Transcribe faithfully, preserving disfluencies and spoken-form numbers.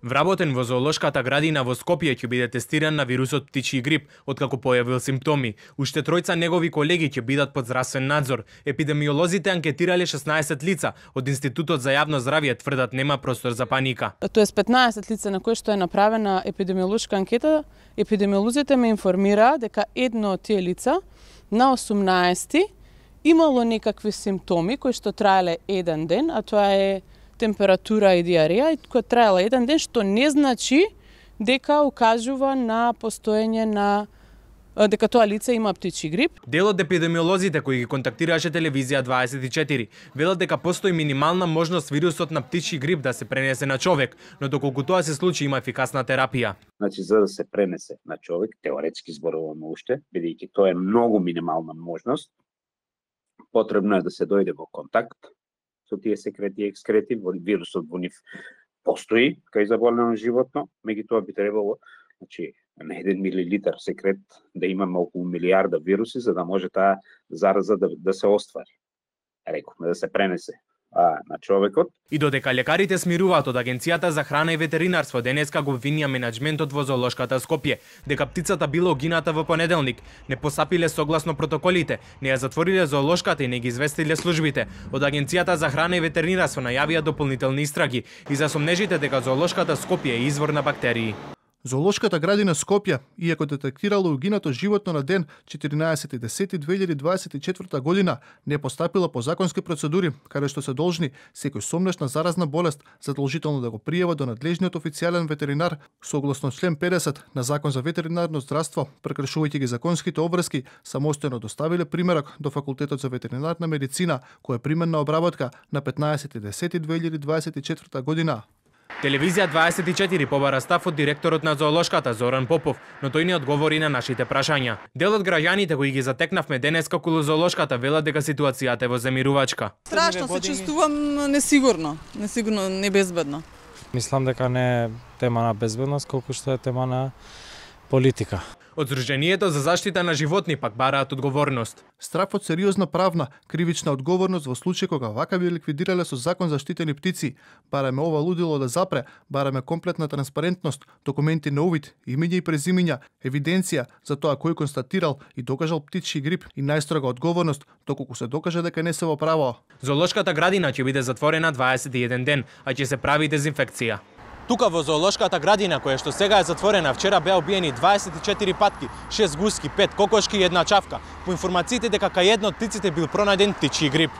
Вработен во зоолошката градина во Скопје ќе биде тестиран на вирусот птичји грип, откако појавил симптоми. Уште тројца негови колеги ќе бидат под здравствен надзор. Епидемиолозите анкетирале шеснаесет лица. Од Институтот за јавно здравје тврдат нема простор за паника. Тоа е петнаесет лица на кои што е направена епидемиолошка анкета. Епидемиолозите ме информира дека едно од тие лица на осумнаесети имало некакви симптоми кои што траеле еден ден, а тоа е температура и диареја, која траела еден ден, што не значи дека укажува на постоење на дека тоа лице има птичји грип. Дел од епидемиолозите кои ги контактираше телевизија дваесет и четири велат дека постои минимална можност вирусот на птичји грип да се пренесе на човек, но доколку тоа се случи има ефикасна терапија. Значи, за да се пренесе на човек, теоретски зборуваме уште, бидејќи тоа е многу минимална можност, потребно е да се дојде во контакт со тие секрети и екскрети, вирусот во нив постои кај заболено животно, меѓутоа би требало, значи, на еден милилитар секрет да имаме околу милиарда вируси за да може таа зараза да, да се оствари. Рековме да се пренесе а, на човекот. И додека лекарите смируваат од Агенцијата за храна и ветеринарство, денеска го обвинија менаџментот во зоолошката Скопје дека птицата била угината во понеделник, не постапиле согласно протоколите, не ја затвориле зоолошката и не ги известиле службите. Од Агенцијата за храна и ветеринарство најавија дополнителни истраги и за сомнежите дека зоолошката Скопје е извор на бактерии. Зоолошката градина Скопје, иако детектирала угинато животно на ден четиринаесети десети две илјади дваесет и четврта година, не постапила по законски процедури, каде што се должни секој сомнеш на заразна болест задолжително да го пријава до надлежниот официјален ветеринар согласно член педесет на Закон за ветеринарно здравство, прекршувајќи ги законските обврски, самостојно доставиле примерок до Факултетот за ветеринарна медицина, која е применна обработка на петнаесети десети две илјади дваесет и четврта година. Телевизија дваесет и четири побара став од директорот на зоолошката Зоран Попов, но тој не одговори на нашите прашања. Дел од граѓаните кои ги затекнавме денеска околу зоолошката велат дека ситуацијата е воземирувачка. Страшно се чувствувам несигурно, несигурно, небезбедно. Мислам дека не е тема на безбедност, колку што е тема на политика. Од Сдруженијето за заштита на животни пак бараат одговорност. Страф од сериозна правна, кривична одговорност во случај кога вака би ликвидирале со закон заштитени птици. Бараме ова лудило да запре, бараме комплетна транспарентност, документи на увид, имиња и презимиња, евиденција за тоа кој констатирал и докажал птичји грип и најстрога одговорност, доколку се докаже дека не се во право. Зоолошката градина ќе биде затворена дваесет и еден ден, а ќе се прави дезинфекција. Тука во зоолошката градина, која што сега е затворена, вчера беа убиени дваесет и четири патки, шест гуски, пет кокошки и една чавка. По информациите дека кај една од птиците бил пронајден птичји грип.